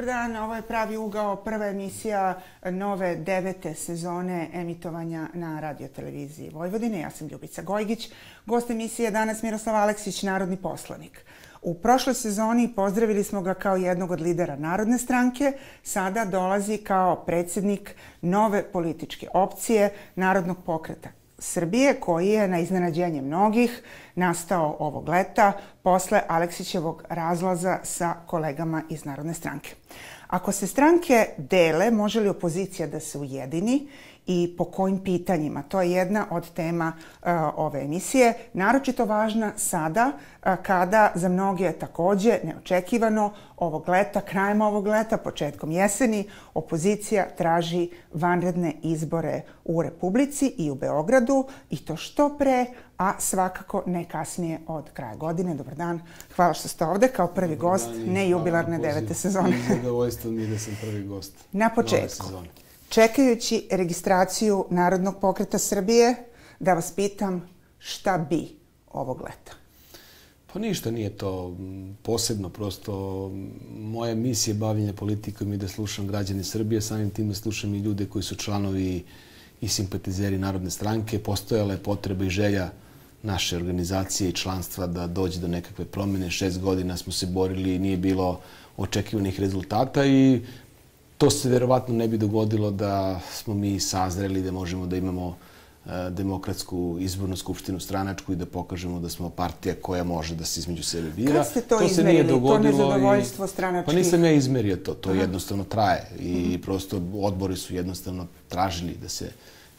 dobar dan. Ovo je Pravi ugao, prva emisija nove 9. sezone emitovanja na radioteleviziji Vojvodine. Ja sam Ljubica Gojgić. Gost emisije je danas Miroslav Aleksić, narodni poslanik. U prošloj sezoni pozdravili smo ga kao jednog od lidera Narodne stranke. Sada dolazi kao predsjednik nove političke opcije Narodnog pokreta Srbije, koji je na iznenađenje mnogih nastao ovog leta posle Aleksićevog razlaza sa kolegama iz Narodne stranke. Ako se stranke dele, može li opozicija da se ujedini i po kojim pitanjima? To je jedna od tema ove emisije, naročito važna sada kada za mnoge je takođe neočekivano ovog leta, krajem ovog leta, početkom jeseni, opozicija traži vanredne izbore u Republici i u Beogradu i to što pre, a svakako ne kasnije od kraja godine. Dobar dan, hvala što ste ovde kao prvi gost nejubilarne 9. sezone. Zadovoljstvo mi je da sam prvi gost. Na početku, čekajući registraciju Narodnog pokreta Srbije, da vas pitam šta bi ovog leta? Pa ništa nije to posebno, prosto moja misija bavljenja politikom i da slušam građane Srbije, samim tim da slušam i ljude koji su članovi i simpatizeri Narodne stranke. Postojala je potreba i želja naše organizacije i članstva da dođe do nekakve promjene. 6 godina smo se borili i nije bilo očekivanih rezultata i to se verovatno ne bi dogodilo da smo mi sazreli, da možemo da imamo demokratsku izbornu skupštinu stranačku i da pokažemo da smo partija koja može da se između sebe bira. Kad ste to izmerili, to nezadovoljstvo stranačkih? Pa nisam ja izmerio to, to jednostavno traje i prosto odbori su jednostavno tražili da se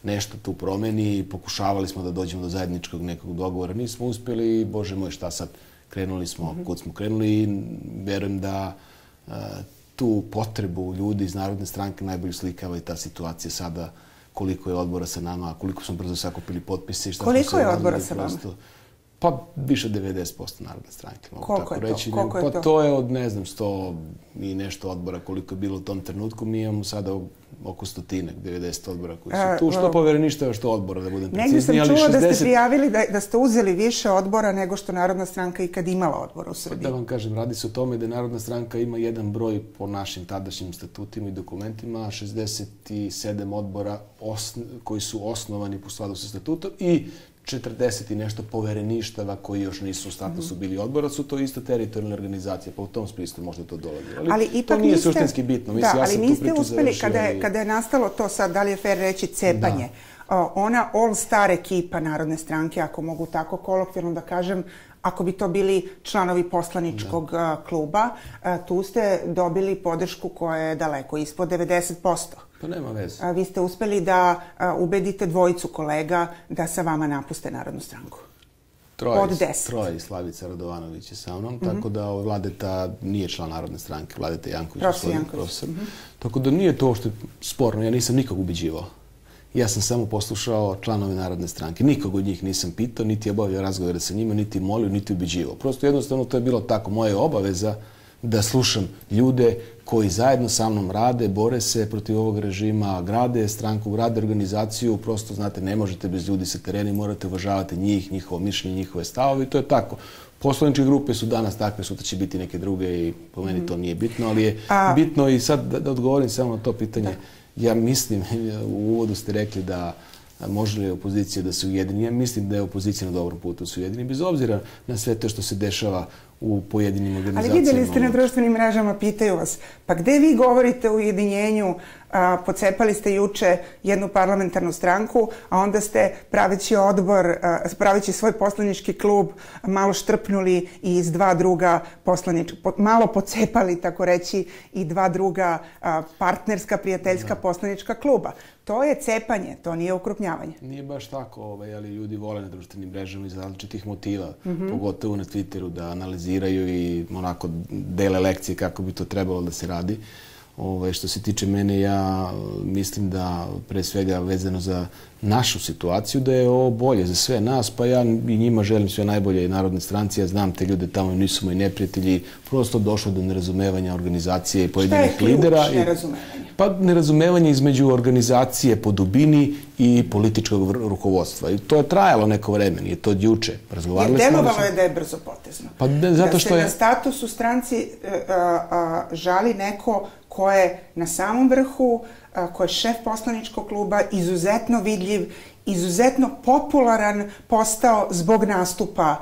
nešto tu promeni i pokušavali smo da dođemo do zajedničkog nekog dogovora. Nismo uspjeli i, bože moj, šta sad, krenuli smo kud smo krenuli i verujem da tu potrebu ljudi iz Narodne stranke najbolje slikava i ta situacija sada, koliko je odbora sa nama, koliko smo brzo sakupili potpise. Koliko je odbora sa vama? Pa više od 90% Narodne stranke, mogu tako reći. Koliko je to? Pa to je od, ne znam, 100 i nešto odbora koliko je bilo u tom trenutku. Mi imamo sada oko 100-ak, 90 odbora koji su tu. Što povereništava, što odbora, da budem precizniji. Negdje sam čula da ste prijavili da ste uzeli više odbora nego što Narodna stranka ikad imala odbora u Srbiji. Da vam kažem, radi se o tome da Narodna stranka ima jedan broj po našim tadašnjim statutima i dokumentima, 67 odbora koji su osnovani po skladu sa statutom i 40 i nešto povereništava koji još nisu u statusu bili odbora, su to isto teritorijalne organizacije, pa u tom smislu možda to dolazi. Ali to nije suštinski bitno. Da, ali niste uspeli, kada je nastalo to sad, da li je fair reći cepanje, ona all-star ekipa Narodne stranke, ako mogu tako kolokvijalno da kažem, ako bi to bili članovi poslaničkog kluba, tu ste dobili podršku koja je daleko ispod 90%. Pa nema veze. Vi ste uspeli da ubedite dvojicu kolega da sa vama napuste Narodnu stranku. Troje i Slavica Radovanović je sa mnom, tako da Vladeta nije član Narodne stranke, Vladeta Janković je profesor. Tako da nije to što je sporno, ja nisam nikog ubeđivao. Ja sam samo poslušao članove Narodne stranke. Nikog od njih nisam pitao, niti obavio razgovore sa njima, niti molio, niti ubeđivao. Prosto jednostavno to je bilo tako. Moja obaveza da slušam ljude koji zajedno sa mnom rade, bore se protiv ovog režima, grade stranku, grade organizaciju. Prosto, znate, ne možete bez ljudi sa terena, morate uvažavati njih, njihovo mišljenje, njihove stavove i to je tako. Poslaničke grupe su danas takve, sutra će biti neke druge i po meni to nije bitno, ali je bitno i sad da odgovorim samo na to pitanje. Ja mislim, u uvodu ste rekli da može li opozicija da se ujedini. Ja mislim da je opozicija na dobrom putu da se ujedini, bez obzira na sve to što se dešava u pojedinim organizacijama. Ali vidjeli ste na društvenim mrežama, pitaju vas, pa gde vi govorite o ujedinjenju? Pocepali ste juče jednu parlamentarnu stranku, a onda ste praveći odbor, praveći svoj poslanički klub, malo štrpnuli i iz dva druga malo pocepali, tako reći, i dva druga partnerska, prijateljska poslanička kluba. To je cepanje, to nije ukrupnjavanje. Nije baš tako, ali ljudi vole na društvenim mrežama iz različitih motiva, pogotovo na Twitteru, da analiziraju i onako dele lekcije kako bi to trebalo da se radi. Što se tiče mene, ja mislim da pre svega vezano za našu situaciju, da je ovo bolje za sve nas, pa ja i njima želim sve najbolje i Narodne stranci. Ja znam te ljude tamo, nisu moji neprijatelji, prosto došlo do nerazumevanja organizacije i pojedinih lidera. Šta je ključ nerazumevanja? Pa nerazumevanje između organizacije po dubini i političkog rukovodstva. I to je trajalo neko vreme, nije to od juče. Jer delovalo je da je brzo potezno. Pa zato što je... Da se na status u stranci žali neko ko je na samom vrhu, ko je šef poslaničkog kluba, izuzetno vidljiv, izuzetno popularan postao zbog nastupa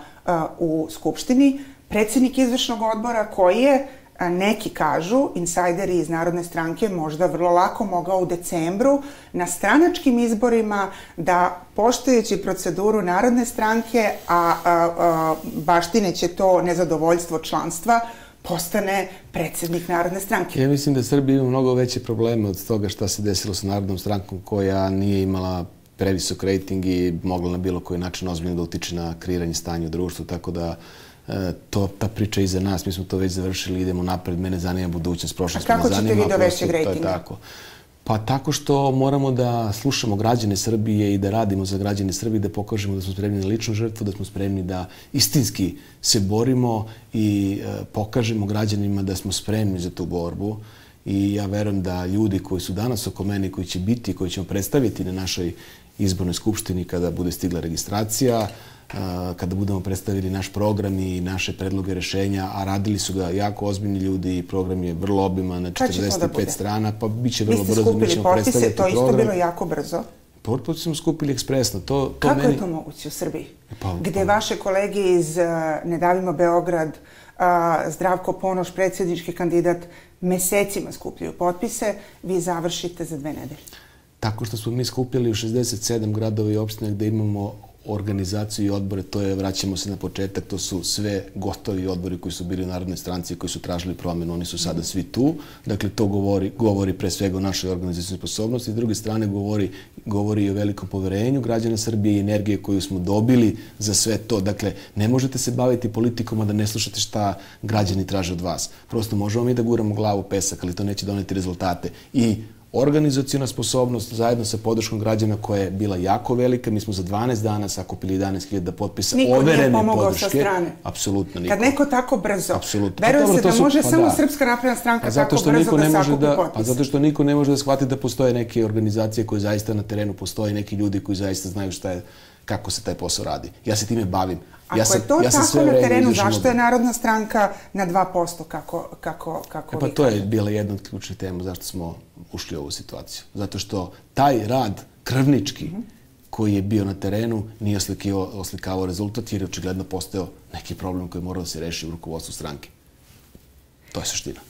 u Skupštini, predsjednik izvršnog odbora koji je, neki kažu, insajderi iz Narodne stranke, možda vrlo lako mogao u decembru na stranačkim izborima da, poštujući proceduru Narodne stranke, a baštineće to nezadovoljstvo članstva, postane predsjednik Narodne stranke. Ja mislim da Srbija ima mnogo veće probleme od toga šta se desilo sa Narodnom strankom, koja nije imala previsok rejting i mogla na bilo koji način ozbiljno da utiče na kreiranje stanja u društvu, tako da ta priča iza nas, mi smo to već završili, idemo napred, mene zanima budućnost, prošlost me zanima. A kako ćete vi do većeg rejtinga? Pa tako što moramo da slušamo građane Srbije i da radimo za građane Srbije, da pokažemo da smo spremni na ličnu žrtvu, da smo spremni da istinski se borimo i pokažemo građanima da smo spremni za tu borbu. I ja verujem da ljudi koji su danas oko mene, koji će biti, koji ćemo predstaviti na našoj izbornoj skupštini kada bude stigla registracija, kada budemo predstavili naš program i naše predloge rešenja, a radili su ga jako ozbiljni ljudi i program je vrlo obiman, na 45 strana, pa bit će vrlo brzo, mi ćemo predstavljati program. Vi ste skupili potpise, to isto bilo jako brzo. Potpise smo skupili ekspresno. Kako je to moguće u Srbiji? Gde vaše kolege iz Ne davimo Beograd, Zdravko Ponoš, predsjednički kandidat, mesecima skupljaju potpise, vi završite za 2 nedelje. Tako što smo mi skupili u 67 gradova i opština gde imamo organizaciju i odbore, to je, vraćamo se na početak, to su sve gotovi odbori koji su bili u Narodnoj stranci, koji su tražili promjenu, oni su sada svi tu. Dakle, to govori pre svega o našoj organizacijnoj sposobnosti. S druge strane, govori i o velikom poverenju građana Srbije i energije koju smo dobili za sve to. Dakle, ne možete se baviti politikom, a da ne slušate šta građani traže od vas. Prosto možemo mi da guramo glavu u pesak, ali to neće doneti rezultate. I organizacijona sposobnost zajedno sa podrškom građana koja je bila jako velika. Mi smo za 12 dana sakupili 11.000 potpisa overene podrške. Niko nije pomogao sa strane. Apsolutno niko. Kad neko tako brzo, veruje se da može samo Srpska napredna stranka tako brzo da sakupi potpise. A zato što niko ne može da shvati da postoje neke organizacije koje zaista na terenu postoje, neki ljudi koji zaista znaju kako se taj posao radi. Ja se time bavim. Ako je to tako na terenu, zašto je Narodna stranka na 2%? Kako pa to je bila jedna od ključnih tema zašto smo ušli u ovu situaciju. Zato što taj rad krvnički koji je bio na terenu nije oslikavao rezultat jer je očigledno postao neki problem koji mora da se reši u rukovodstvu stranke. To je suština.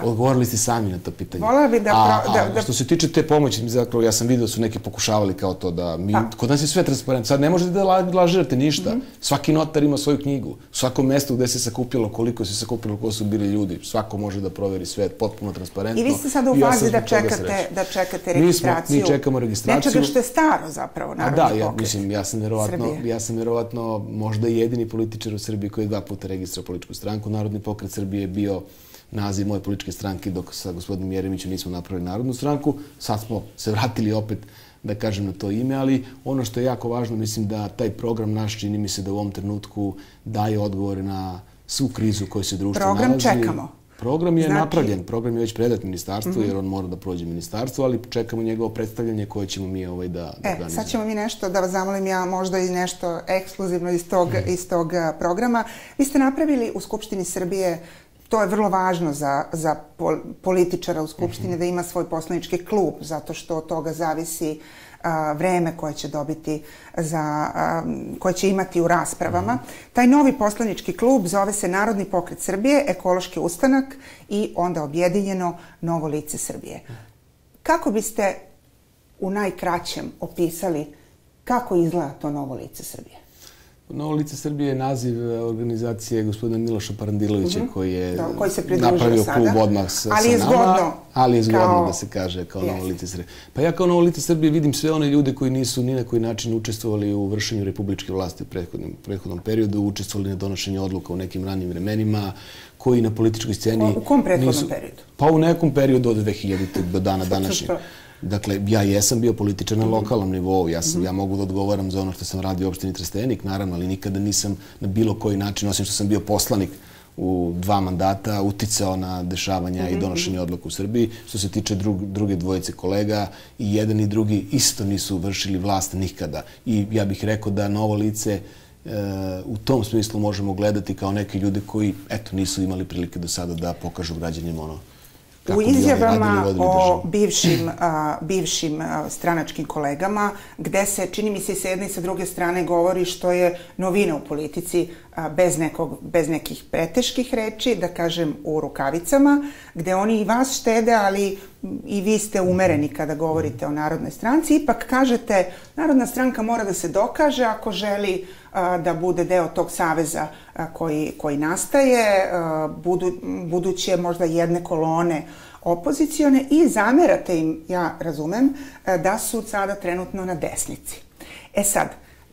Odgovorili ste sami na to pitanje. A što se tiče te pomoći, zapravo ja sam vidio da su neki pokušavali kao to da mi, kod nas je sve transparentno. Sad ne možete da lažirate ništa. Svaki notar ima svoju knjigu. U svakom mestu gde se sakupilo, koliko se sakupilo, ko su bili ljudi. Svako može da proveri sve, potpuno transparentno. I vi ste sada u fazi da čekate registraciju. Mi čekamo registraciju. Nečega što je staro zapravo, Narodni pokret. Da, ja sam verovatno možda jedini političar u Srbiji koji je 2 puta registrao političku stranku. Narodni pokret Srbije je bio naziv moje političke stranke, dok sa gospodinom Jeremićem nismo napravili Narodnu stranku. Sad smo se vratili opet, da kažem, na to ime, ali ono što je jako važno, mislim da taj program naš, čini mi se da u ovom trenutku daje odgovore na svu krizu koju se društvo nalazi. Program čekamo. Program je napravljen, program je već predat ministarstvu, jer on mora da prođe ministarstvo, ali čekamo njegovo predstavljanje koje ćemo mi da organizujemo. Sad ćemo mi nešto, da vas zamolim ja, možda i nešto ekskluzivno iz tog programa. Vi ste napravili u Skupštini Srbije, to je vrlo važno za političara u Skupštini, da ima svoj poslanički klub, zato što od toga zavisi vreme koje će dobiti, koje će imati u raspravama. Taj novi poslanički klub zove se Narodni pokret Srbije, Ekološki ustanak i onda objedinjeno Novo lice Srbije. Kako biste u najkraćem opisali kako izgleda to Novo lice Srbije? Novo lice Srbije je naziv organizacije gospodina Miloša Parandilovića koji je napravio klub odmah sa nama, ali je zgodno da se kaže kao Novo lice Srbije. Pa ja kao Novo lice Srbije vidim sve one ljude koji nisu ni na koji način učestvovali u vršenju republičke vlasti u prethodnom periodu, učestvovali na donošenju odluka u nekim ranim vremenima, koji na političkoj sceni... U kom prethodnom periodu? Pa u nekom periodu od 2000. do dana današnjeg. Dakle, ja jesam bio političar na lokalnom nivou, ja mogu da odgovaram za ono što sam radio u opštini Trstenik, naravno, ali nikada nisam na bilo koji način, osim što sam bio poslanik u 2 mandata uticao na dešavanja i donošenje odluka u Srbiji. Što se tiče druge dvojice kolega, i jedan i drugi isto nisu vršili vlast nikada. I ja bih rekao da novo lice u tom smislu možemo gledati kao neki ljudi koji, eto, nisu imali prilike do sada da pokažu građanima ono u izjavama o bivšim stranačkim kolegama, gde se, čini mi se, s jedne i sa druge strane govori što je novina u politici, bez nekih preteških reči, da kažem u rukavicama, gde oni i vas štede, ali i vi ste umereni kada govorite o Narodnoj stranci. Ipak kažete, Narodna stranka mora da se dokaže ako želi da bude deo tog saveza koji nastaje, buduće možda jedne kolone opozicione, i zamerate im, ja razumem, da su sada trenutno na desnici. E sad,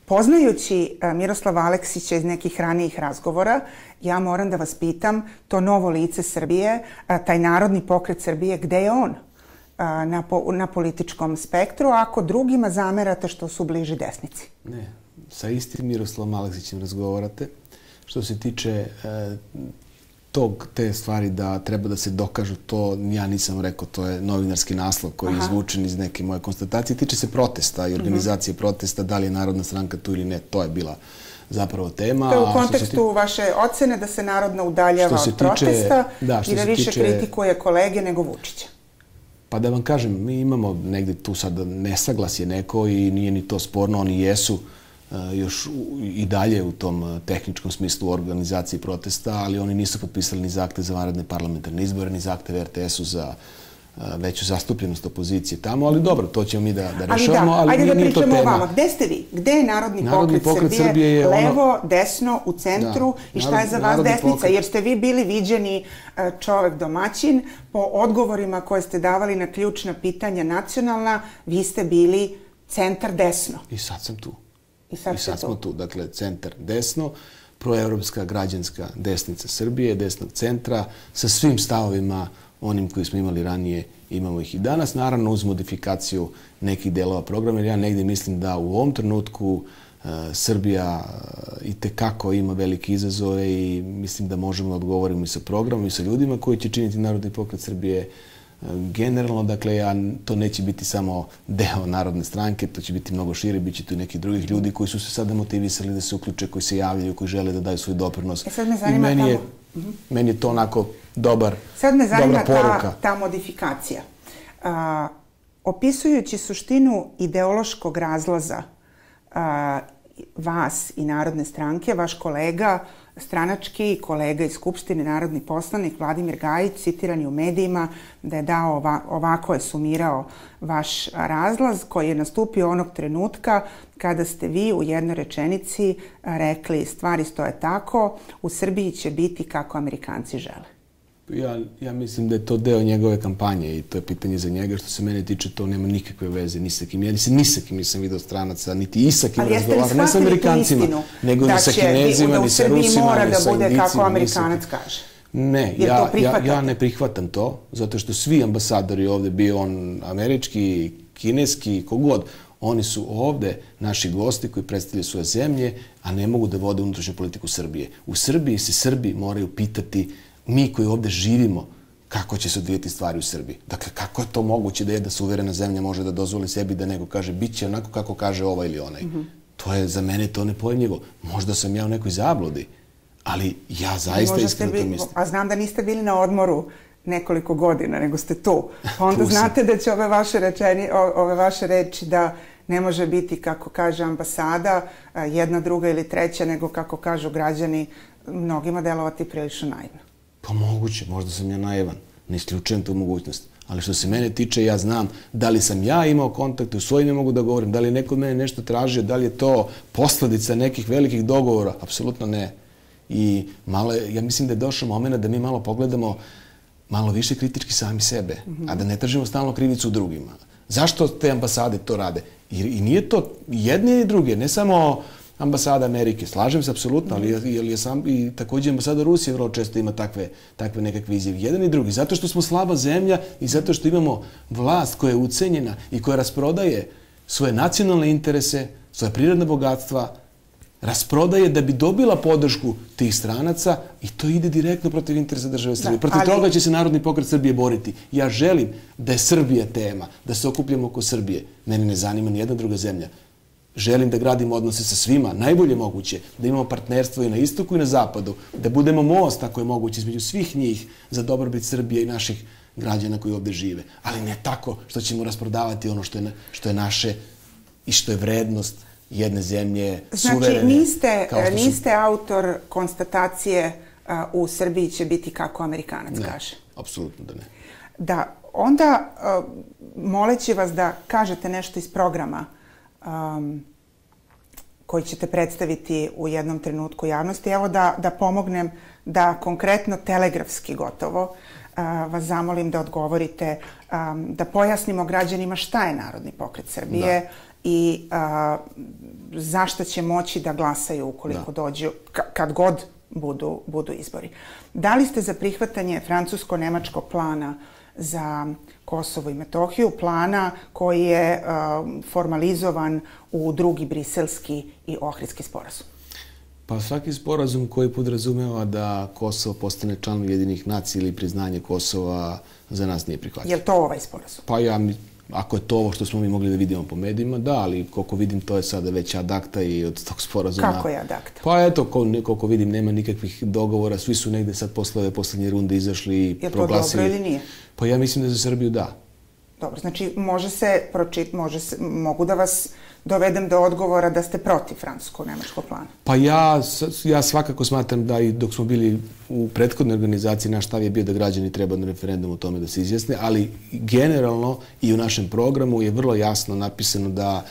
poznajući Miroslava Aleksića iz nekih ranijih razgovora, ja moram da vas pitam, to novo lice Srbije, taj Narodni pokret Srbije, gde je on na političkom spektru, ako drugima zamerate što su bliži desnici? Ne, sa istim Miroslavom Aleksićem razgovarate. Što se tiče te stvari da treba da se dokažu, to ja nisam rekao, to je novinarski naslov koji je izvučen iz neke moje konstatacije. Tiče se protesta i organizacije protesta, da li je Narodna stranka tu ili ne, to je bila zapravo tema. To je u kontekstu vaše ocene da se Narodna udaljava od protesta i da više kritikuje kolege nego Vučića. Pa da vam kažem, mi imamo negde tu sad nesaglasje neko i nije ni to sporno, oni jesu još i dalje u tom tehničkom smislu organizaciji protesta, ali oni nisu potpisali ni zahtev za vanredne parlamentarne izbore, ni zahtev RTS-u za veću zastupljenost opozicije tamo, ali dobro, to ćemo mi da rešavamo, ali nije to tema. Ajde da pričamo o vama. Gde ste vi? Gde je Narodni pokret Srbije? Levo, desno, u centru? I šta je za vas desnica? Jer ste vi bili viđeni čovek domaćin. Po odgovorima koje ste davali na ključna pitanja nacionalna, vi ste bili centar desno. I sad sam tu. I sad smo tu. Dakle, centar desno, proevropska građanska desnica Srbije, desnog centra, sa svim stavovima onim koji smo imali ranije, imamo ih i danas. Naravno, uz modifikaciju nekih delova programa, jer ja negdje mislim da u ovom trenutku Srbija itekako ima velike izazove i mislim da možemo da odgovorimo i sa programom i sa ljudima koji će činiti Narodni pokret Srbije. Generalno, dakle, to neće biti samo deo Narodne stranke, to će biti mnogo šire, bit će tu i neki drugih ljudi koji su se sada motivisali da se uključe, koji se javljaju, koji žele da daju svoj doprinos. I meni je to onako dobra poruka. Sad me zanima ta modifikacija. Opisujući suštinu ideološkog razlaza vas i Narodne stranke, vaš kolega, stranački kolega iz Skupštine, narodni poslanik Vladimir Gajić, citiran je u medijima da je dao, ovako je sumirao vaš razlaz koji je nastupio onog trenutka kada ste vi u jednoj rečenici rekli stvari stoje tako, u Srbiji će biti kako Amerikanci žele. Ja mislim da je to deo njegove kampanje i to je pitanje za njega. Što se mene tiče, to nema nikakve veze ni sa kim. Ja ni sa kim nisam vidio stranaca, niti i sa kim razgovaram, ne sa Amerikancima, nego ni sa Kinezima, ni sa Rusima, ni sa Indijcima. Da će da bude kako Amerikanac kaže. Ne, ja ne prihvatam to, zato što svi ambasadori ovde, bio on američki, kineski, kogod, oni su ovde naši gosti koji predstavljaju svoje zemlje, a ne mogu da vode unutrašnju politiku Srbije. U Srbiji se Srbi moraju pitati, mi koji ovde živimo, kako će se odvijeti stvari u Srbiji. Dakle, kako je to moguće da jedna suverena zemlja može da dozvoli sebi da nego kaže bit će onako kako kaže ovaj ili onaj. To je, za mene, to nepojmljivo. Možda sam ja u nekoj zabludi, ali ja zaista iskreno to mislim. A znam da niste bili na odmoru nekoliko godina, nego ste tu. Pa onda znate da će ove vaše reči da ne može biti, kako kaže ambasada, jedna, druga ili treća, nego kako kažu građani, mnogima delovati prilično naivno. Pa moguće, možda sam ja naivan, ne isključujem tu mogućnost. Ali što se mene tiče, ja znam da li sam ja imao kontakte, u svoj ne mogu da govorim, da li je neko od mene nešto tražio, da li je to posledica nekih velikih dogovora, apsolutno ne. I ja mislim da je došao moment da mi malo pogledamo malo više kritički sami sebe, a da ne tražimo stalno krivicu u drugima. Zašto te ambasade to rade? I nije to jedne i druge, ne samo ambasada Amerike, slažem se apsolutno, ali također ambasada Rusije vrlo često ima takve nekakve izjave. Jedan i drugi. Zato što smo slaba zemlja i zato što imamo vlast koja je ucenjena i koja rasprodaje svoje nacionalne interese, svoje prirodne bogatstva, rasprodaje da bi dobila podršku tih stranaca i to ide direktno protiv interesa države Srbije. Protiv toga će se Narodni pokret Srbije boriti. Ja želim da je Srbija tema, da se okupljamo oko Srbije. Mene ne zanima ni jedna druga zemlja. Želim da gradimo odnose sa svima, najbolje moguće, da imamo partnerstvo i na istoku i na zapadu, da budemo most, ako je moguće, između svih njih za dobrobit Srbije i naših građana koji ovde žive. Ali ne tako što ćemo rasprodavati ono što je naše i što je vrednost jedne zemlje, suverene. Znači, niste autor konstatacije u Srbiji će biti kako Amerikanac kaže? Ne, apsolutno da ne. Da, onda moleći vas da kažete nešto iz programa koji ćete predstaviti u jednom trenutku javnosti. Evo da pomognem da konkretno telegrafski gotovo vas zamolim da odgovorite, da pojasnimo građanima šta je Narodni pokret Srbije i zašto će moći da glasaju ukoliko dođu, kad god budu izbori. Da li ste za prihvatanje francusko-nemačkog plana za Kosovo i Metohiju, plana koji je formalizovan u drugi briselski i ohridski sporazum? Pa svaki sporazum koji podrazumeva da Kosovo postane član Ujedinjenih nacija ili priznanje Kosova za nas nije prihvatljivo. Je li to ovaj sporazum? Pa ako je to ovo što smo mi mogli da vidimo po medijima, da, ali koliko vidim to je sada već ad acta i od tog sporazuma... Kako je ad acta? Pa eto, koliko vidim nema nikakvih dogovora, svi su negde sad posle ove poslednje runde izašli i proglasili... Je to dobro ili nije? Pa ja mislim da za Srbiju da. Dobro, znači mogu da vas dovedem do odgovora da ste protiv francusko-nemačkog plana? Pa ja svakako smatram da i dok smo bili u prethodnoj organizaciji, naš stav je bio da građani treba na referendumu o tome da se izjasne, ali generalno i u našem programu je vrlo jasno napisano da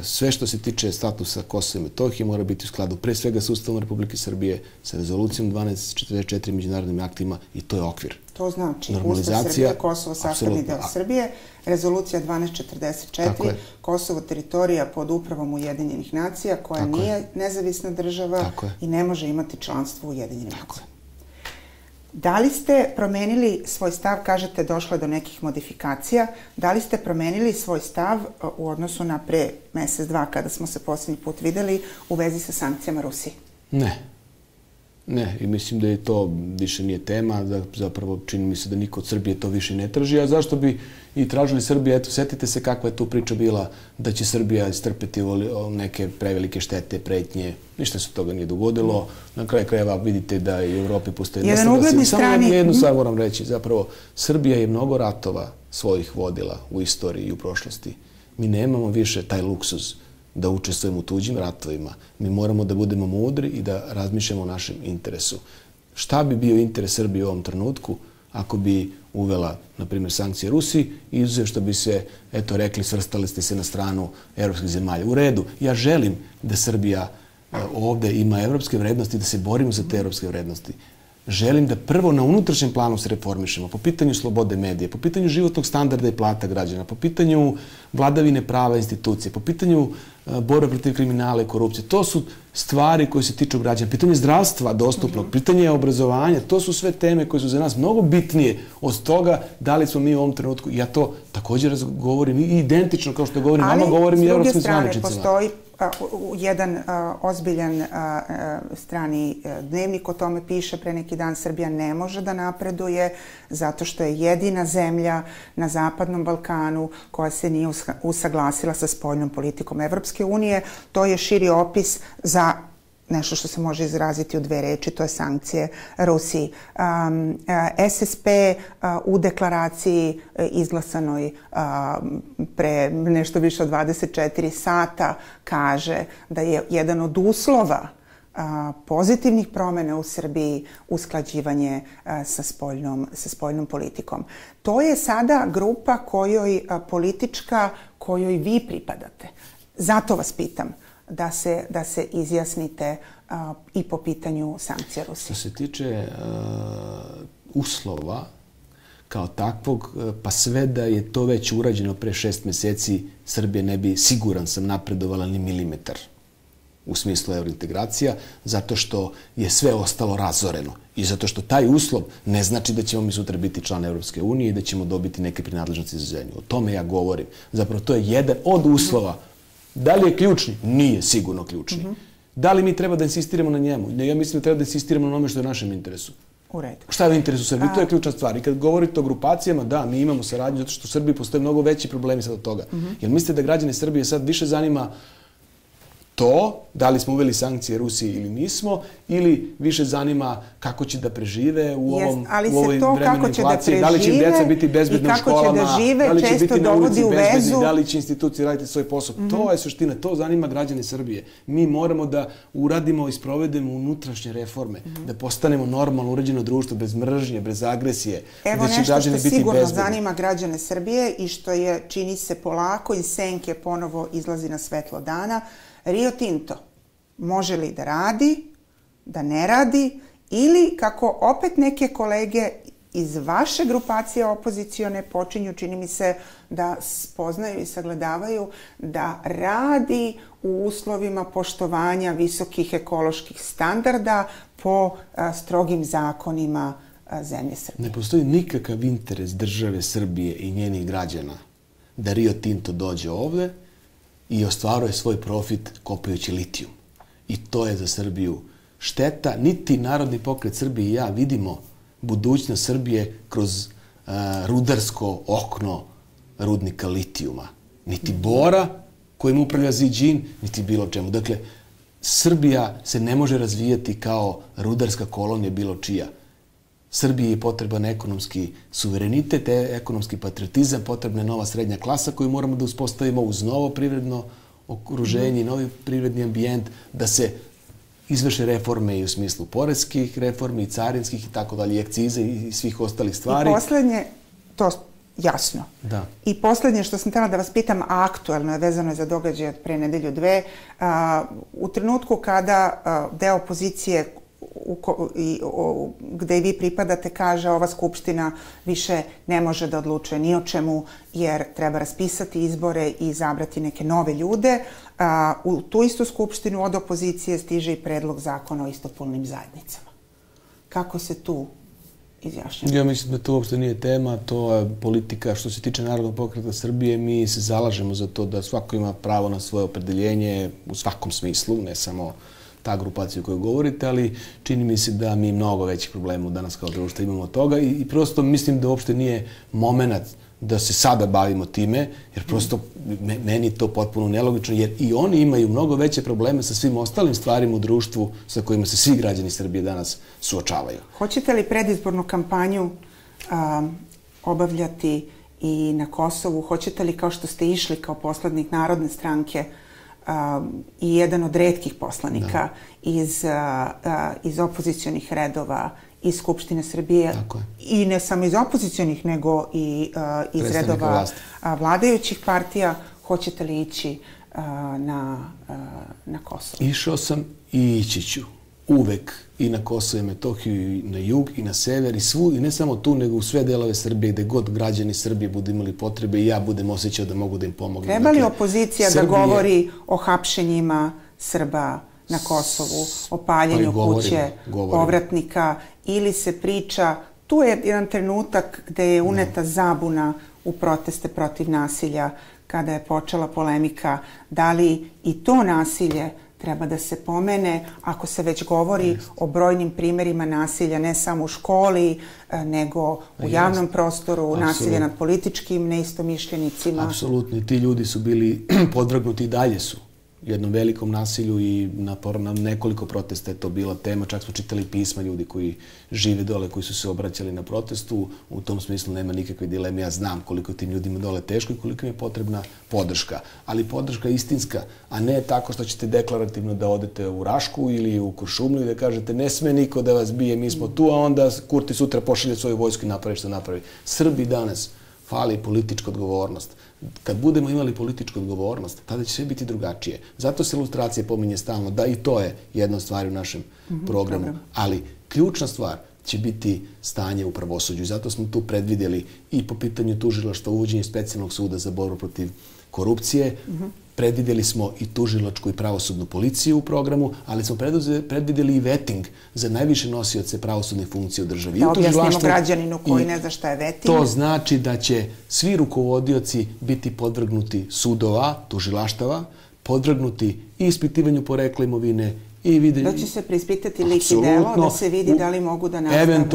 sve što se tiče statusa Kosova i Metohije mora biti u skladu pre svega sa Ustavom Republike Srbije, sa rezolucijom 1244 međunarodnim aktima i to je okvir. To znači Ustav Srbije, Kosovo sastavni deo Srbije, rezolucija 1244, Kosovo teritorija pod upravom Ujedinjenih nacija koja nije nezavisna država i ne može imati članstvo u Ujedinjenim nacijama. Da li ste promenili svoj stav, kažete došlo je do nekih modifikacija, da li ste promenili svoj stav u odnosu na pre mesec, dva kada smo se posljednji put videli u vezi sa sankcijama Rusiji? Ne, i mislim da je to više nije tema, da zapravo čini mi se da niko od Srbije to više ne traži, a zašto bi i tražili Srbije, eto, setite se kakva je tu priča bila da će Srbija istrpeti neke prevelike štete, pretnje, ništa se toga nije dogodilo, na kraju krajeva vidite da i u Evropi postoje... Samo jednu stvar moram reći, zapravo Srbija je mnogo ratova svojih vodila u istoriji i u prošlosti. Mi nemamo više taj luksuz da učestvujemo u tuđim ratovima. Mi moramo da budemo mudri i da razmišljamo o našem interesu. Šta bi bio interes Srbije u ovom trenutku ako bi uvela, na primjer, sankcije Rusiji i izuzev što bi se, eto, rekli, svrstali ste se na stranu evropskih zemalja. U redu, ja želim da Srbija ovde ima evropske vrednosti, da se borimo za te evropske vrednosti. Želim da prvo na unutrašnjem planu se reformišemo po pitanju slobode medije, po pitanju životnog standarda i plata građana, po pitanju vladavine prava institucije, po pitanju borbe protiv kriminala i korupcije. To su stvari koje se tiču građana. Pitanje zdravstva dostupnog, pitanje obrazovanja, to su sve teme koje su za nas mnogo bitnije od toga da li smo mi u ovom trenutku. Ja to također govorim i identično kao što govorim vama, govorim i evropskim zvaničnicima. Ali s druge strane postoji jedan ozbiljan strani dnevnik o tome piše pre neki dan. Srbija ne može da napreduje zato što je jedina zemlja na Zapadnom Balkanu koja se nije usaglasila sa spoljnom politikom Evropske unije. To je širi opis za nešto što se može izraziti u dve reči, to je sankcije Rusiji. SSP u deklaraciji izglasanoj pre nešto više od 24 sata kaže da je jedan od uslova pozitivnih promjena u Srbiji usklađivanje sa spoljnom politikom. To je sada grupa politička kojoj vi pripadate. Zato vas pitam da se izjasnite i po pitanju sankcija Rusije. Što se tiče uslova kao takvog, pa sve da je to već urađeno pre 6 meseci, Srbija ne bi, siguran sam, napredovala ni milimetar u smislu eurointegracija, zato što je sve ostalo razoreno i zato što taj uslov ne znači da ćemo mi sutra biti član Evropske unije i da ćemo dobiti neke prinadležnosti za zemlju. O tome ja govorim. Zapravo to je jedan od uslova Da li je ključni? Nije sigurno ključni. Da li mi treba da insistiramo na njemu? Ja mislim da treba da insistiramo na onome što je u našem interesu. U redu. Šta je u interesu Srbije? To je ključna stvar. I kad govorite o grupacijama, da, mi imamo saradnju zato što u Srbiji postoje mnogo veći problemi sad od toga. Jer mislite da građane Srbije sad više zanima to, da li smo uveli sankcije Rusiji ili nismo, ili više zanima kako će da prežive u ovoj vremenu inflacije, da li će im djeca biti bezbedna u školama, da li će biti na ulici bezbedni, da li će institucije raditi svoj posao. To je suština, to zanima građane Srbije. Mi moramo da uradimo i sprovedemo unutrašnje reforme, da postanemo normalno uređeno društvo, bez mržnje, bez agresije, gde će građani biti bezbedni. Evo nešto što sigurno zanima građane Srbije i što je, čini se polako, iz senke ponovo izlazi na svetlo dana. Rio Tinto može li da radi, da ne radi, ili kako opet neke kolege iz vaše grupacije opozicione počinju, čini mi se, da spoznaju i sagledavaju da radi u uslovima poštovanja visokih ekoloških standarda po strogim zakonima zemlje Srbije. Ne postoji nikakav interes države Srbije i njenih građana da Rio Tinto dođe ovde i ostvaruje svoj profit kopajući litijum. I to je za Srbiju šteta. Niti Narodni pokret Srbije i ja vidimo budućnost Srbije kroz rudarsko okno rudnika litijuma. Niti Bora, kojim upravlja Ziđin, niti bilo čemu. Dakle, Srbija se ne može razvijati kao rudarska kolonija bilo čija. Srbiji je potreban ekonomski suverenitet, ekonomski patriotizam, potrebna je nova srednja klasa koju moramo da uspostavimo uz novo privredno okruženje i novi privredni ambijent, da se izvrše reforme i u smislu poreskih reformi, i carinskih i tako dalje, i akcize i svih ostalih stvari. I poslednje, to jasno. Da. I poslednje što sam htjela da vas pitam, aktuelno je, vezano je za događaje od pre nedelju dve, u trenutku kada deo opozicije gde i vi pripadate kaže ova skupština više ne može da odlučuje ni o čemu jer treba raspisati izbore i izabrati neke nove ljude. U tu istu skupštinu od opozicije stiže i predlog zakona o istopolnim zajednicama. Kako se tu izjašnjava? Ja mislim da to uopšte nije tema, to je politika. Što se tiče Narodnog pokreta Srbije, mi se zalažemo za to da svako ima pravo na svoje opredeljenje u svakom smislu, ne samo ta grupacija o kojoj govorite, ali čini mi se da mi mnogo većih problema danas kao društvo imamo od toga i prosto mislim da uopšte nije moment da se sada bavimo time, jer prosto meni to potpuno nelogično, jer i oni imaju mnogo veće probleme sa svim ostalim stvarima u društvu sa kojima se svi građani Srbije danas suočavaju. Hoćete li predizbornu kampanju obavljati i na Kosovu? Hoćete li, kao što ste išli kao poslanik Narodne stranke i jedan od retkih poslanika iz opozicionih redova iz Skupštine Srbije, i ne samo iz opozicionih, nego i iz redova vladajućih partija, hoćete li ići na Kosovo? Išao sam i ići ću uvek i na Kosovo i Metohiju, i na jug, i na sever, i ne samo tu, nego u sve delove Srbije, gde god građani Srbije budu imali potrebe i ja budem osjećao da mogu da im pomognem. Treba li opozicija da govori o hapšenjima Srba na Kosovu, o paljenju kuće povratnika, ili se priča, tu je jedan trenutak gde je uneta zabuna u proteste protiv nasilja, kada je počela polemika, da li i to nasilje treba da se pomene, ako se već govori o brojnim primjerima nasilja, ne samo u školi, nego u javnom prostoru, nasilje nad političkim neistomišljenicima. Apsolutno. Ti ljudi su bili podvrgnuti i dalje su jednom velikom nasilju i na nekoliko protesta je to bila tema. Čak smo čitali pisma ljudi koji žive dole, koji su se obraćali na protestu. U tom smislu nema nikakve dileme. Ja znam koliko tim ljudima dole teško i koliko im je potrebna podrška. Ali podrška istinska, a ne tako što ćete deklarativno da odete u Rašku ili u Kuršumliju i da kažete ne sme niko da vas bije, mi smo tu, a onda Kurti sutra pošalje svoju vojsku i napravi što napravi. Srbi danas fali politička odgovornost. Kad budemo imali političku odgovornost, tada će sve biti drugačije. Zato se ilustracije pominje stalno, da i to je jedna od stvari u našem programu. Ali ključna stvar će biti stanje u pravosuđu. Zato smo tu predvidjeli i po pitanju tužilaštva uvođenje specijalnog suda za borbu protiv korupcije. Predvidjeli smo i tužilačku i pravosudnu policiju u programu, ali smo predvidjeli i vetting za najviše nosioce pravosudnih funkcija u državi. Da objasnimo građaninu koji ne zna šta je vetting. To znači da će svi rukovodioci biti podvrgnuti sudova, tužilaštava, podvrgnuti i ispitivanju porekla imovine i videnju... Da će se preispitati lik i delo, da se vidi da li mogu da nastave.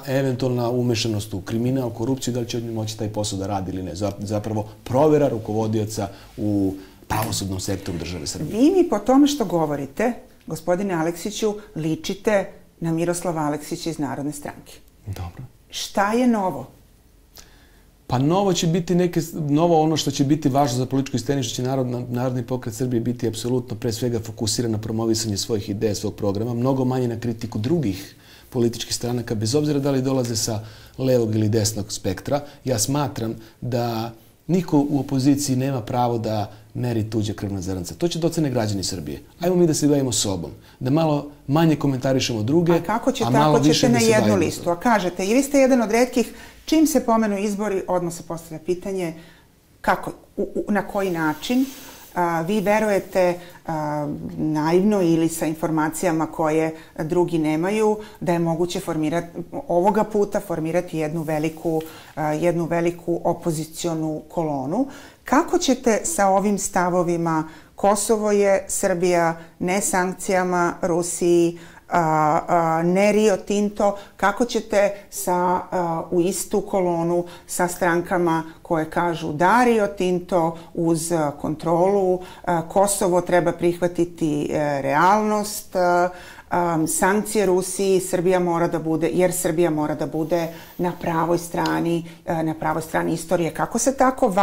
Eventualna umešanost u kriminal, korupciju, da li će od njih moći taj posao da radi ili ne. Zapravo provera rukovodioca u pravosudnom sektoru države Srbije. Vi mi po tome što govorite, gospodine Aleksiću, ličite na Miroslava Aleksića iz Narodne stranke. Dobro. Šta je novo? Pa novo ono što će biti važno za političku scenu, što će Narodni pokret Srbije biti apsolutno pre svega fokusiran na promovisanje svojih ideja, svog programa, mnogo manje na kritiku drugih političkih stranaka, bez obzira da li dolaze sa levog ili desnog spektra. Ja smatram da niko u opoziciji nema pravo da meri tuđe krvna zrnca. To će da ocene građani Srbije. Ajmo mi da se bavimo sobom. Da malo manje komentarišemo druge, a malo više da se bavimo. A kako ćete na jednu listu? A kažete, i vi ste jedan od retkih, čim se pomenu izbori, odmah se postavlja pitanje kako, na koji način vi verujete naivno ili sa informacijama koje drugi nemaju, da je moguće ovoga puta formirati jednu veliku opozicionu kolonu. Kako ćete sa ovim stavovima Kosovo je Srbija, ne sankcijama Rusiji, ne Rio Tinto, kako ćete u istu kolonu sa strankama koje kažu da Rio Tinto uz kontrolu, Kosovo treba prihvatiti realnost, sankcije Rusiji, Srbija mora da bude na pravoj strani istorije. Kako se tako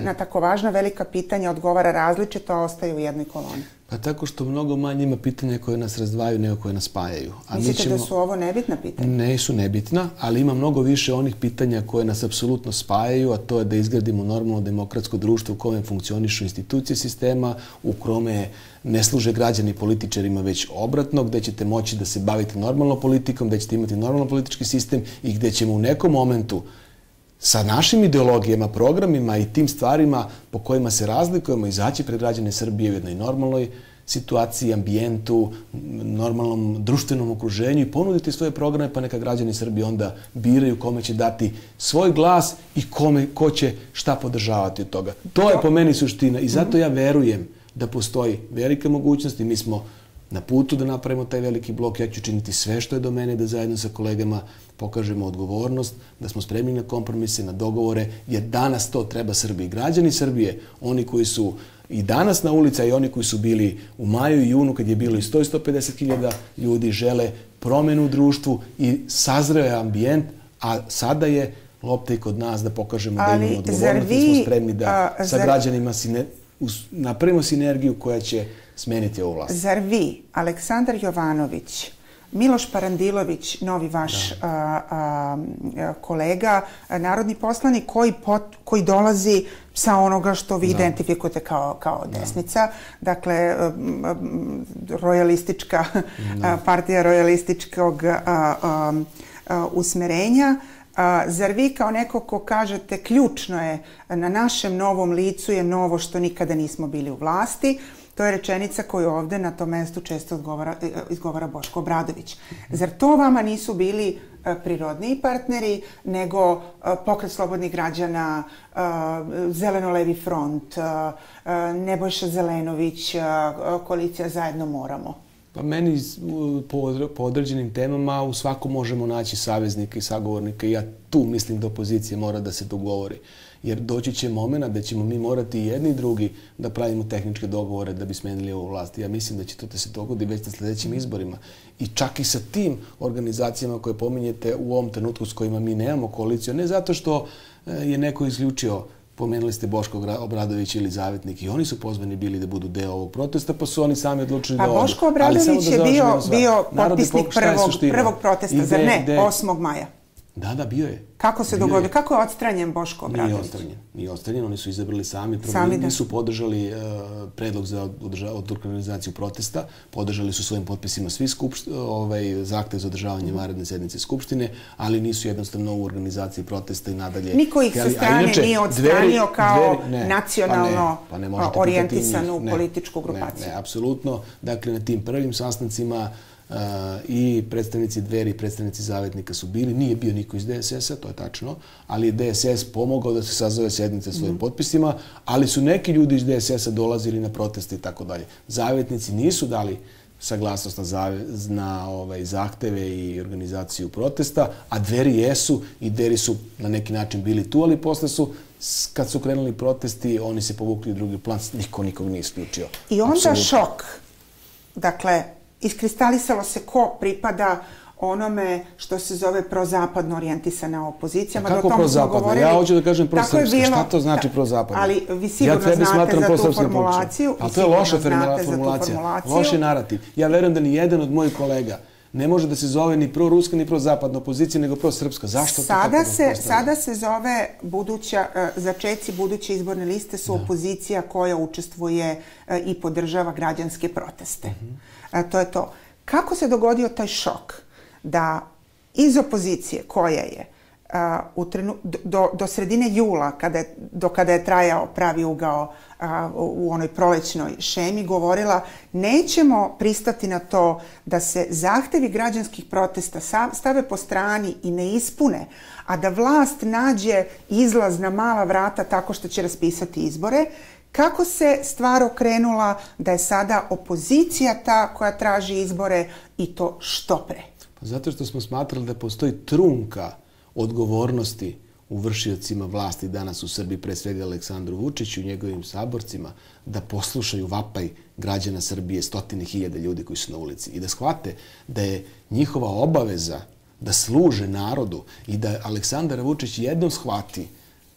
na tako važna velika pitanja odgovara različito, a ostaje u jednoj koloni? Pa tako što mnogo manje ima pitanja koje nas razdvajaju nego koje nas spajaju. Mislite da su ovo nebitna pitanja? Ne su nebitna, ali ima mnogo više onih pitanja koje nas apsolutno spajaju, a to je da izgradimo normalno demokratsko društvo u kome funkcionišu institucije sistema, u kome ne služe građani političarima, već obratno, gde ćete moći da se bavite normalno politikom, gde ćete imati normalno politički sistem i gde ćemo u nekom momentu sa našim ideologijama, programima i tim stvarima po kojima se razlikujemo izaći pred građane Srbije u jednoj normalnoj situaciji, ambijentu, normalnom društvenom okruženju i ponuditi svoje programe, pa neka građani Srbije onda biraju kome će dati svoj glas i ko će šta podržavati od toga. To je po meni suština i zato ja verujem da postoji velika mogućnost i mi smo na putu da napravimo taj veliki blok. Ja ću činiti sve što je do mene da zajedno sa kolegama pokažemo odgovornost, da smo spremni na kompromise, na dogovore, jer danas to treba Srbiji. Građani Srbije, oni koji su i danas na ulici, i oni koji su bili u maju i junu, kad je bilo i 100-150 hiljada ljudi, žele promenu u društvu i sazreo je ambijent, a sada je lopta i kod nas da pokažemo da imamo odgovornost i smo spremni da sa građanima napravimo sinergiju koja će smeniti ovu vlast. Zar vi, Aleksandar Jovanović, Miloš Parandilović, novi vaš kolega, narodni poslanik koji dolazi sa onoga što vi identifikujete kao desnica, dakle, partija rojalističkog usmerenja. Zar vi kao neko ko kažete ključno je na našem novom licu je novo što nikada nismo bili u vlasti? To je rečenica koju ovde na tom mestu često izgovara Boško Obradović. Zar to vama nisu bili prirodniji partneri nego Pokret slobodnih građana, Zeleno-levi front, Nebojša Zelenović, koalicija Zajedno moramo? Pa meni po određenim temama u svakom možemo naći saveznika i sagovornika i ja tu mislim da opozicija mora da se dogovori. Jer doći će momena da ćemo mi morati i jedni i drugi da pravimo tehničke dogovore da bi smenili ovu vlast. Ja mislim da će to da se dogodi već na sljedećim izborima. I čak i sa tim organizacijama koje pominjete u ovom trenutku s kojima mi nemamo koaliciju, ne zato što je neko isključio, pomenuli ste Boško Obradović ili Zavetnik, i oni su pozvani bili da budu deo ovog protesta, pa su oni sami odlučili da odu. Pa Boško Obradović je bio potpisnik prvog protesta, zar ne? 8. maja. Da, bio je. Kako se dogodio? Kako je odstranjen Boško Obradović? Nije odstranjen, oni su izabrali sami. Nisu podržali predlog za organizaciju protesta, podržali su svojim potpisima svi zahtev za održavanje vanredne sednice Skupštine, ali nisu jednostavno u organizaciji protesta i nadalje. Niko ih sa strane nije odstranio kao nacionalno orijentisanu političku grupaciju. Ne, apsolutno. Dakle, na tim prvim sastancima i predstavnici Dveri i predstavnici Zavetnika su bili. Nije bio niko iz DSS-a, to je tačno, ali je DSS pomogao da se sazove sednice svojim potpisima, ali su neki ljudi iz DSS-a dolazili na proteste i tako dalje. Zavetnici nisu dali saglasnost na zahteve i organizaciju protesta, a Dveri jesu i Dveri su na neki način bili tu, ali posle su, kad su krenuli protesti, oni se povukli u drugi plan, niko nikog nije isključio. I onda šok. Dakle, iskristalisalo se ko pripada onome što se zove prozapadno orijentisana opozicija. Kako prozapadno? Ja hoću da kažem prosrpska. Šta to znači prozapadno? Ali vi sigurno znate za tu formulaciju. A to je loša formulacija. Loš je narativ. Ja verujem da ni jedan od mojih kolega ne može da se zove ni proruska ni prozapadna opozicija, nego prosrpska. Zašto to tako postavljamo? Sada se zove začeci buduće izborne liste su opozicija koja učestvuje i podržava građanske proteste. To je to. Kako se dogodio taj šok da iz opozicije koja je do sredine jula, do kada je trajao pravi ugao u onoj prolećnoj šemi, govorila nećemo pristati na to da se zahtevi građanskih protesta stave po strani i ne ispune, a da vlast nađe izlaz na mala vrata tako što će raspisati izbore. Kako se stvar okrenula da je sada opozicija ta koja traži izbore i to što pre? Zato što smo smatrali da postoji trunka odgovornosti u vršiocima vlasti danas u Srbiji, pre svega Aleksandru Vučiću i njegovim saborcima, da poslušaju vapaj građana Srbije, stotine hiljada ljudi koji su na ulici i da shvate da je njihova obaveza da služe narodu i da Aleksandar Vučić jednom shvati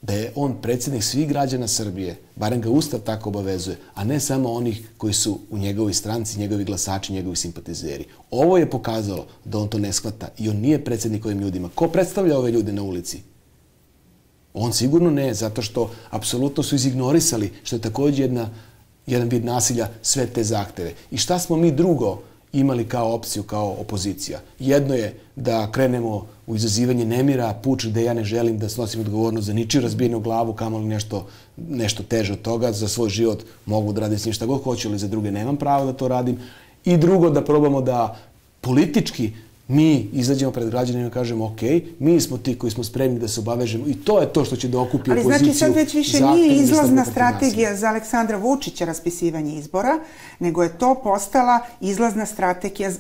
da je on predsjednik svih građana Srbije, barem ga Ustav tako obavezuje, a ne samo onih koji su u njegovoj stranci, njegovi glasači, njegovi simpatizeri. Ovo je pokazalo da on to ne shvata i on nije predsjednik ovim ljudima. Ko predstavlja ove ljude na ulici? On sigurno ne, zato što apsolutno su izignorisali, što je također jedan vid nasilja, sve te zahteve. I šta smo mi drugo imali kao opciju, kao opozicija? Jedno je da krenemo u izazivanje nemira, puč gde ja ne želim da snosim odgovornost za ničiju razbijenu glavu, kamoli nešto teže od toga, za svoj život mogu da radim s njim šta god hoću, ali za druge nemam pravo da to radim. I drugo, da probamo da politički mi izađemo pred građanima i kažemo ok, mi smo ti koji smo spremni da se obavežemo i to je to što će da okupi opoziciju. Ali znači sad već više nije izlazna strategija za Aleksandra Vučića raspisivanje izbora, nego je to postala izlazna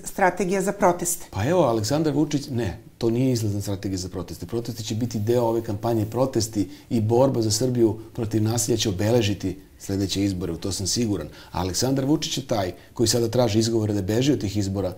strategija za proteste. Pa evo, Aleksandar Vučić, ne, to nije izlazna strategija za proteste. Protesti će biti deo ove kampanje, protesti i borba za Srbiju protiv nasilja će obeležiti sljedeće izbore, u to sam siguran. A Aleksandar Vučić je taj koji sada traži izgovore da beži od tih izbora,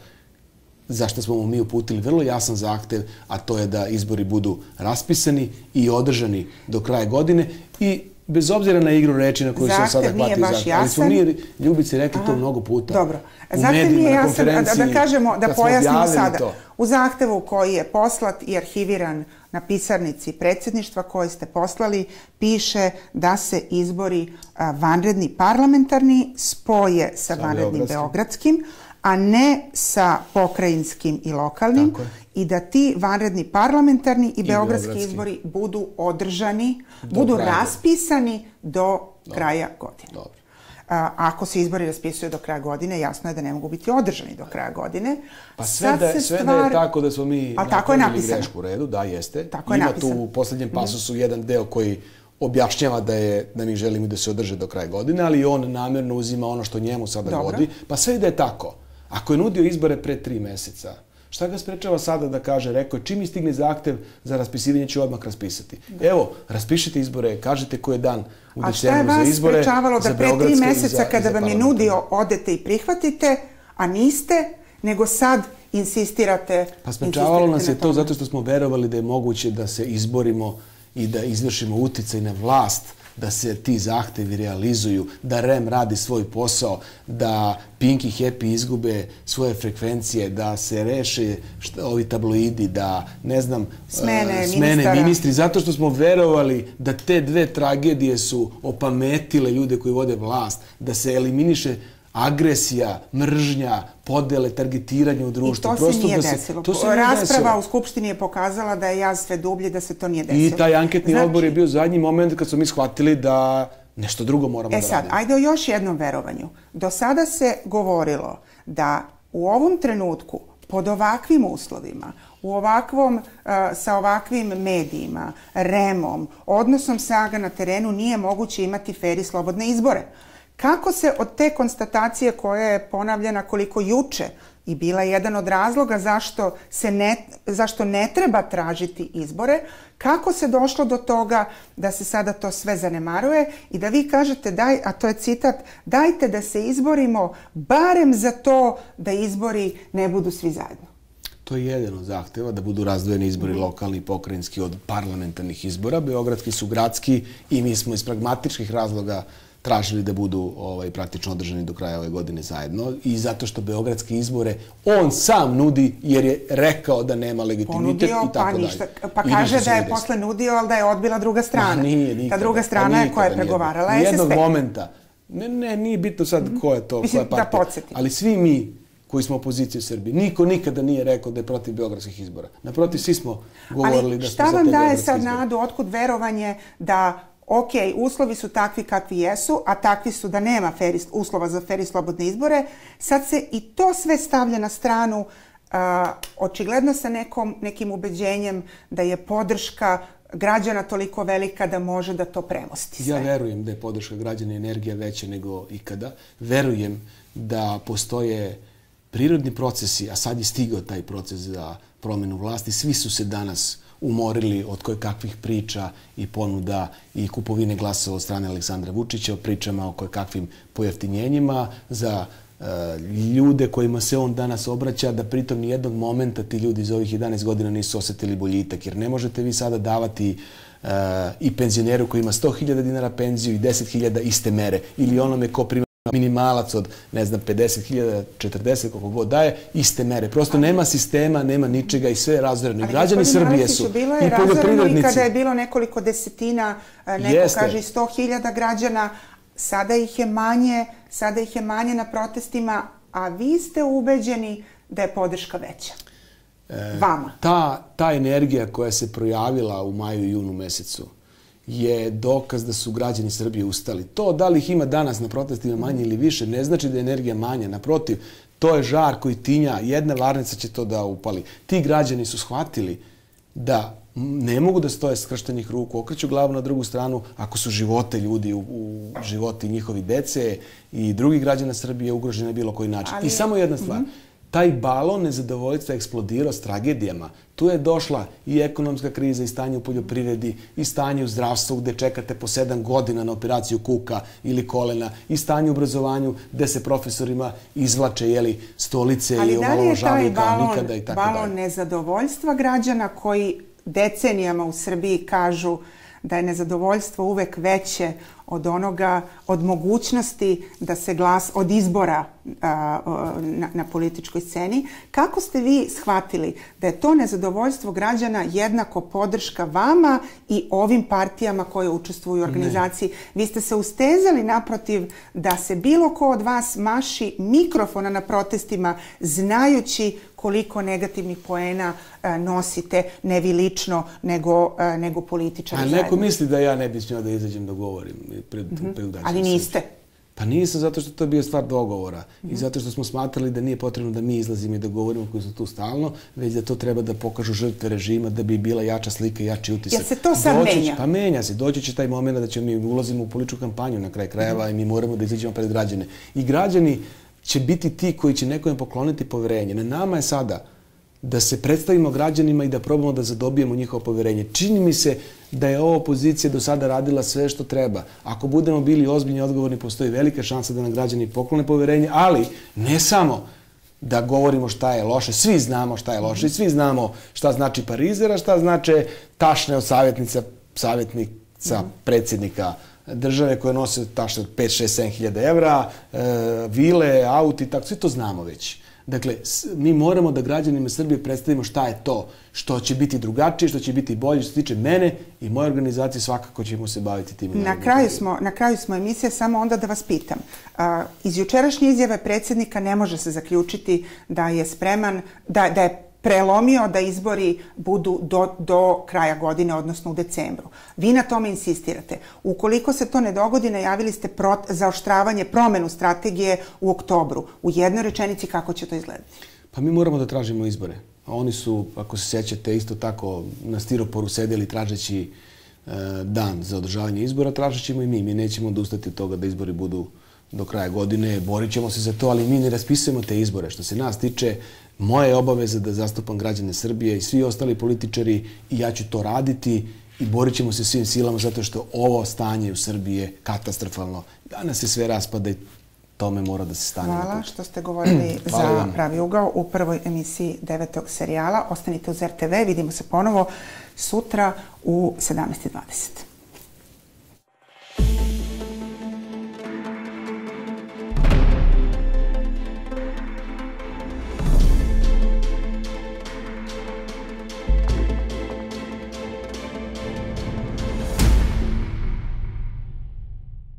zašto smo mu mi uputili vrlo jasan zahtev, a to je da izbori budu raspisani i održani do kraja godine i bez obzira na igru reči na koju se sada hvati zahtev. Ali smo mi, Ljubice, rekli to mnogo puta. Dobro. Zahtev nije jasan, da kažemo, da pojasnimo sada. U zahtevu koji je poslat i arhiviran na pisarnici predsjedništva koji ste poslali, piše da se izbori vanredni parlamentarni spoje sa vanrednim beogradskim, a ne sa pokrajinskim i lokalnim, i da ti vanredni parlamentarni i beogradski izbori budu održani, budu raspisani do kraja godine. Ako se izbori raspisuju do kraja godine, jasno je da ne mogu biti održani do kraja godine. Pa sve da je tako da smo mi napravili grešku u redu, da, jeste. Ima tu u posljednjem pasusu jedan deo koji objašnjava da mi želimo da se održe do kraja godine, ali on namjerno uzima ono što njemu sada godi. Pa sve da je tako. Ako je nudio izbore pre 3 meseca, šta ga sprečava sada da kaže, rekao je, čim mi stigne zahtev za raspisivanje ću odmah raspisati. Evo, raspišite izbore, kažete koji je dan u decembru za izbore. A šta je vas sprečavalo da pre 3 meseca kada vam je nudio odete i prihvatite, a niste, nego sad insistirate? Pa sprečavalo nas je to zato što smo verovali da je moguće da se izborimo i da izvršimo uticaj na vlast, da se ti zahtevi realizuju, da REM radi svoj posao, da Pink i Happy izgube svoje frekvencije, da se reše ovi tabloidi, da, ne znam, smene ministri, zato što smo verovali da te dve tragedije su opametile ljude koji vode vlast, da se eliminiše agresija, mržnja, podele, targetiranje u društvu. I to se nije desilo. Rasprava u Skupštini je pokazala da je jaz sve dublji, da se to nije desilo. I taj anketni odbor je bio zadnji moment kad smo mi shvatili da nešto drugo moramo da radimo. Ajde o još jednom verovanju. Do sada se govorilo da u ovom trenutku, pod ovakvim uslovima, sa ovakvim medijima, REM-om, odnosom snaga na terenu nije moguće imati fer i slobodne izbore. Kako se od te konstatacije koja je ponavljena koliko juče i bila jedan od razloga zašto ne treba tražiti izbore, kako se došlo do toga da se sada to sve zanemaruje i da vi kažete, a to je citat, dajte da se izborimo barem za to da izbori ne budu svi zajedno. To je jedan od zahteva, da budu razdvojeni izbori lokalni i pokrajinski od parlamentarnih izbora. Beogradski su gradski i mi smo iz pragmatičkih razloga tražili da budu praktično održani do kraja ove godine zajedno i zato što beogradske izbore on sam nudi jer je rekao da nema legitimitet i tako dalje. Pa kaže da je posle nudio, ali da je odbila druga strana. Ta druga strana je koja je pregovarala SSP. Nijednog momenta. Ne, nije bitno sad ko je to, koja je partija. Ali svi mi koji smo opozicija u Srbiji, niko nikada nije rekao da je protiv beogradskih izbora. Naprotiv, svi smo govorili da smo za te beogradske izbore. Ali šta vam daje sad nadu, otkud verovanje da ok, uslovi su takvi kakvi jesu, a takvi su da nema uslova za fer i slobodne izbore. Sad se i to sve stavlja na stranu, očigledno sa nekim ubeđenjem da je podrška građana toliko velika da može da to premosti sve. Ja verujem da je podrška građana i energija veća nego ikada. Verujem da postoje prirodni procesi, a sad je stigao taj proces za promenu vlasti. Svi su se danas umorili od kojekakvih priča i ponuda i kupovine glasova od strane Aleksandra Vučića, o pričama o kojekakvim pojeftinjenjima za ljude kojima se on danas obraća, da pritom nijednog momenta ti ljudi za ovih 11 godina nisu osetili boljitak. Jer ne možete vi sada davati i penzioneru koji ima 100.000 dinara penziju i 10.000 iste mere ili onome ko prima minimalac od, ne znam, 50.000, 40, koliko god daje, iste mere. Prosto nema sistema, nema ničega i sve je razoreno. I građani Srbije su i poljoprivrednici. I kada je bilo nekoliko desetina, neko kaže 100.000 građana, sada ih je manje na protestima, a vi ste ubeđeni da je podrška veća. Vama. Ta energija koja se projavila u maju i junu mesecu je dokaz da su građani Srbije ustali. To da li ih ima danas na protestima manje ili više ne znači da je energija manja. Naprotiv, to je žar koji tinja. Jedna varnica će to da upali. Ti građani su shvatili da ne mogu da stoje skrštenih ruku, okreću glavu na drugu stranu ako su živote ljudi u životi njihovi dece i drugih građana Srbije ugrožene na bilo koji način. I samo jedna stvar. Taj balon nezadovoljstva eksplodirao s tragedijama. Tu je došla i ekonomska kriza i stanje u poljoprivredi i stanje u zdravstvu gde čekate po 7 godina na operaciju kuka ili kolena i stanje u obrazovanju gde se profesorima izvlače stolice i omalovažavaju kao nikada i tako dalje. Ali da li je taj balon nezadovoljstva građana koji decenijama u Srbiji kažu da je nezadovoljstvo uvek veće od mogućnosti da se glas od izbora na političkoj sceni. Kako ste vi shvatili da je to nezadovoljstvo građana jednako podrška vama i ovim partijama koje učestvuju u organizaciji? Vi ste se ustezali naprotiv da se bilo ko od vas maši mikrofona na protestima znajući koliko negativnih poena nosite, ne vi lično, nego političari zajedno. A neko misli da ja ne bi smio da izađem da govorim. Ali niste. Pa nisam, zato što to je bio stvar dogovora i zato što smo smatrali da nije potrebno da mi izlazimo i da govorimo koji su tu stalno, već da to treba da pokažu žrtve režima da bi bila jača slika i jači utisak. Jel se to sad menja? Pa menja se. Doći će taj moment da ćemo mi ulazimo u političku kampanju na kraj krajeva i mi moramo da izađemo pred građane. I građani će biti ti koji će nekome pokloniti poverenje. Na nama je sada da se predstavimo građanima i da probamo da zadobijemo njihovo poverenje. Čini mi se da je ova opozicija do sada radila sve što treba. Ako budemo bili ozbiljni i odgovorni, postoji velika šansa da nam građani poklone poverenje, ali ne samo da govorimo šta je loše. Svi znamo šta je loše i svi znamo šta znači parizera, šta znače tašne od savjetnica predsjednika države koje nose tašne od 5, 6, 7 hiljada evra, vile, auti, tako, sve to znamo već. Dakle, mi moramo da građanima Srbije predstavimo šta je to, što će biti drugačije, što će biti bolje, što se tiče mene i moje organizacije, svakako ćemo se baviti tim. Na kraju smo emisije, samo onda da vas pitam. Iz jučerašnje izjave predsjednika ne može se zaključiti da je spreman, da je prelomio da izbori budu do kraja godine, odnosno u decembru. Vi na tome insistirate. Ukoliko se to ne dogodi, najavili ste zaoštravanje, promenu strategije u oktobru. U jednoj rečenici kako će to izgledati? Pa mi moramo da tražimo izbore. Oni su, ako se sjećate, isto tako na stiroporu sedeli tražeći dan za održavanje izbora, tražit ćemo i mi. Mi nećemo odustati od toga da izbori budu do kraja godine, borit ćemo se za to, ali mi ne raspisujemo te izbore. Što se nas tiče, moja je obaveza da zastupam građane Srbije i svi ostali političari i ja ću to raditi i borit ćemo se svim silama zato što ovo stanje u Srbiji je katastrofalno. Danas se sve raspada i tome mora da se stane. Hvala što ste govorili za Pravi ugao u prvoj emisiji 9. serijala. Ostanite uz RTV, vidimo se ponovo sutra u 17:20.